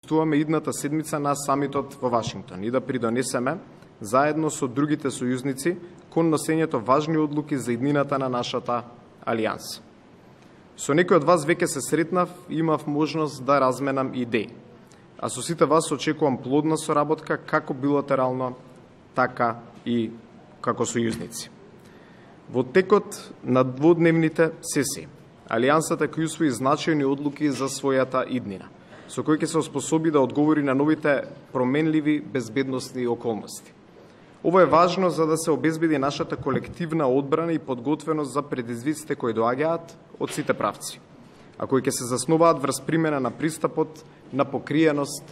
присуствуваме идната седмица на самитот во Вашингтон и да придонесеме заедно со другите сојузници кон носењето важни одлуки за иднината на нашата алијанса. Со некој од вас веќе се сретнав и имав можност да разменам идеи, а со сите вас очекувам плодна соработка како билатерално, така и како сојузници. Во текот на дводневните сесии, Алијансата ќе усвои значајни одлуки за својата иднина, со кој ќе се оспособи да одговори на новите променливи безбедносни околности. Ова е важно за да се обезбеди нашата колективна одбрана и подготвеност за предизвиците кои доаѓаат од сите правци, а кои ќе се заснуваат врз примена на пристапот на покриеност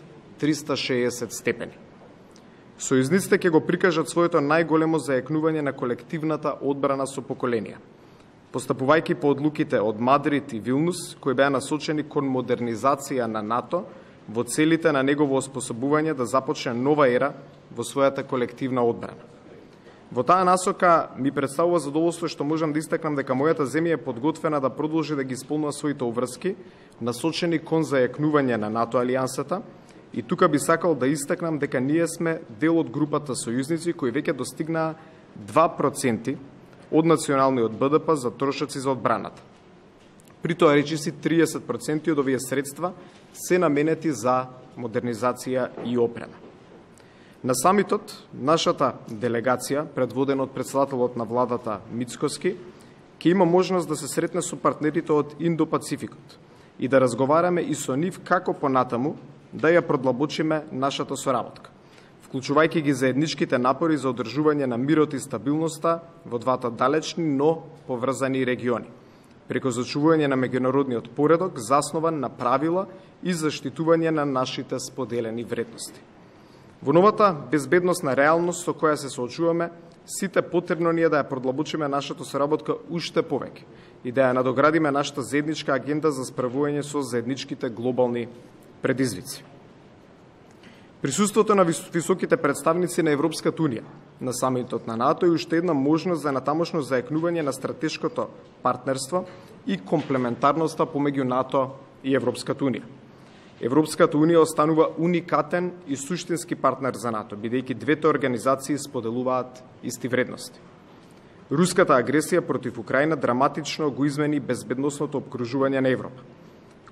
360 степени. Сојузниците ќе го прикажат своето најголемо зајакнување на колективната одбрана со поколенија, постапувајќи по одлуките од Мадрид и Вилнус, кои беа насочени кон модернизација на НАТО во целите на негово оспособување да започне нова ера во својата колективна одбрана. Во таа насока ми представува задоволство што можам да истакнам дека мојата земја е подготвена да продолжи да ги исполнува своите обврски, насочени кон зајакнување на НАТО алијансата, и тука би сакал да истакнам дека ние сме дел од групата сојузници кои веќе достигнаа 2% од националниот БДП за трошоци за одбраната. При тоа речиси 30% од овие средства се наменети за модернизација и опрема. На самитот, нашата делегација, предводена од председателот на владата Мицкоски, ќе има можност да се сретне со партнерите од Индо-Пацификот и да разговараме и со нив како понатаму да ја продлабочиме нашата соработка, вклучувајќи ги заедничките напори за одржување на мирот и стабилноста во двата далечни, но поврзани региони, преку зачувување на меѓународниот поредок, заснован на правила и заштитување на нашите споделени вредности. Во новата безбедносна реалност со која се соочуваме, сите потребно ние да ја продлабочиме нашата соработка уште повеќе и да ја надоградиме нашата заедничка агенда за справување со заедничките глобални предизвици. Присуството на високите представници на Европската унија на самитот на НАТО е уште една можност за натамошно зајакнување на стратешкото партнерство и комплементарноста помеѓу НАТО и Европската унија. Европската унија останува уникатен и суштински партнер за НАТО, бидејќи двете организации споделуваат исти вредности. Руската агресија против Украина драматично го измени безбедносното обкружување на Европа,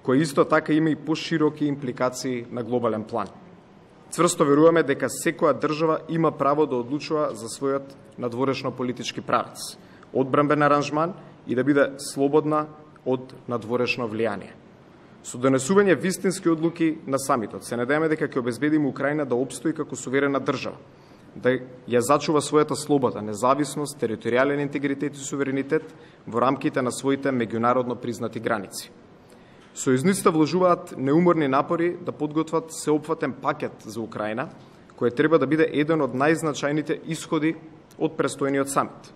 кој исто така има и пошироки импликации на глобален план. Цврсто веруваме дека секоја држава има право да одлучува за својот надворешно политички правец, одбранбен аранжман и да биде слободна од надворешно влијание. Со донесување вистински одлуки на самитот се надеваме дека ќе обезбедиме Украина да опстои како суверена држава, да ја зачува својата слобода, независност, територијален интегритет и суверенитет во рамките на своите меѓународно признати граници. Сојузниците вложуваат неуморни напори да подготват сеопфатен пакет за Украина, кој треба да биде еден од најзначајните исходи од престојниот самит.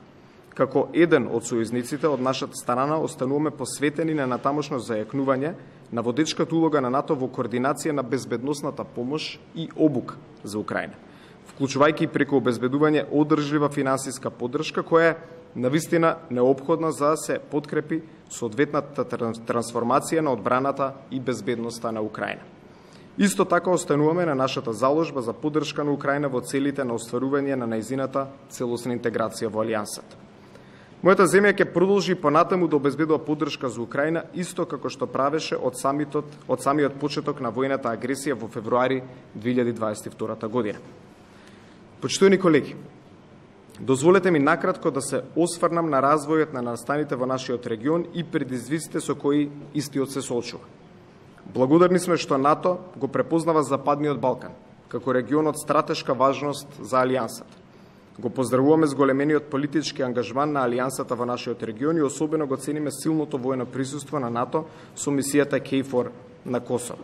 Како еден од сојузниците од нашата страна остануваме посветени на натамошно зајакнување на водечката улога на НАТО во координација на безбедносната помош и обука за Украина, вклучувајќи преку обезбедување одржлива финансиска поддршка која е навистина неопходна за да се подкрепи соодветната трансформација на одбраната и безбедноста на Украина. Исто така остануваме на нашата заложба за поддршка на Украина во целите на остварување на нејзината целосна интеграција во алијансата. Мојата земја ќе продолжи понатаму да обезбедува поддршка за Украина, исто како што правеше од самиот почеток на војната агресија во февруари 2022 година. Почитувани колеги, дозволете ми накратко да се осврнам на развојот на настаните во нашиот регион и предизвиците со кои истиот се соочува. Благодарни сме што НАТО го препознава Западниот Балкан како регион од стратешка важност за алијансата. Го поздравуваме зголемениот политички ангажман на алијансата во нашиот регион и особено го цениме силното воено присуство на НАТО со мисијата KFOR на Косово.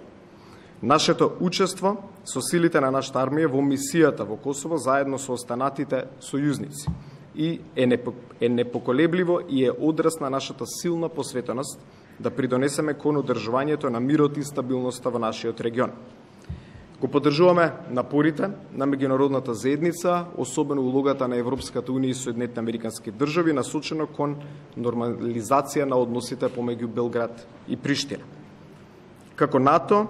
Нашето учество со силите на нашата армија во мисијата во Косово заедно со останатите сојузници и е непоколебливо и е одраз на нашата силна посветеност да придонесеме кон одржувањето на мирот и стабилноста во нашиот регион. Го поддржуваме напорите на меѓународната заедница, особено улогата на Европската унија и Соединетите американски држави, насочено кон нормализација на односите помеѓу Белград и Приштина. Како НАТО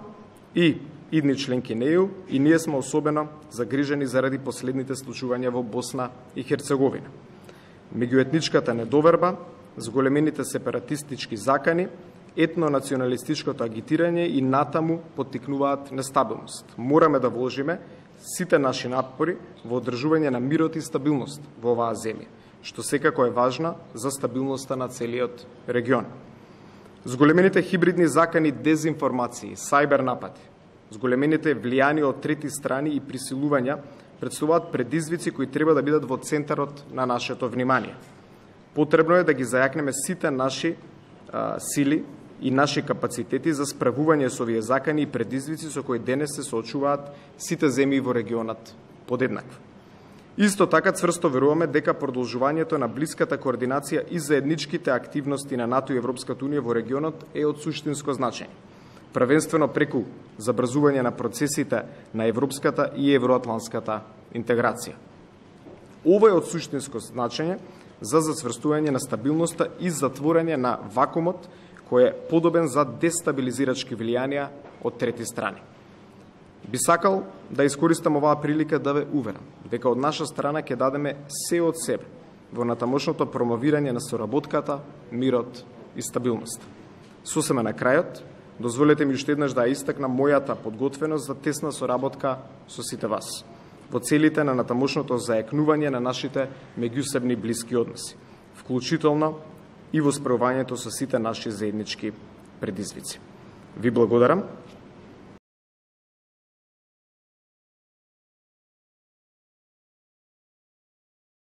и идни членки на ЕУ и ние сме особено загрижени заради последните случувања во Босна и Херцеговина. Меѓуетничката недоверба, зголемените сепаратистички закани, етно-националистичкото агитирање и натаму поттикнуваат нестабилност. Мораме да вложиме сите наши напори во одржување на мирот и стабилност во оваа земја, што секако е важна за стабилноста на целиот регион. Зголемените хибридни закани, дезинформации, сајбер напади, зголемените влијани од трети страни и присилувања представуваат предизвици кои треба да бидат во центарот на нашето внимание. Потребно е да ги зајакнеме сите наши сили и наши капацитети за справување со овие закани и предизвици со кои денес се соочуваат сите земји во регионот подеднакво. Исто така цврсто веруваме дека продолжувањето на блиската координација и заедничките активности на НАТО и Европската унија во регионот е од суштинско значење, првенствено преку забрзување на процесите на европската и евроатлантската интеграција. Ова е од суштинско значење за зацврстување на стабилноста и затворање на вакуумот кој е подобен за дестабилизирачки влијанија од трети страни. Би сакал да искористам оваа прилика да ве уверам дека од наша страна ќе дадеме се од себе во натамошното промовирање на соработката, мирот и стабилноста. Сосема на крајот, дозволете ми уште еднаш да истакнам мојата подготвеност за тесна соработка со сите вас во целите на натамошното заекнување на нашите меѓусебни блиски односи, вклучително и во справувањето со сите наши заеднички предизвици. Ви благодарам.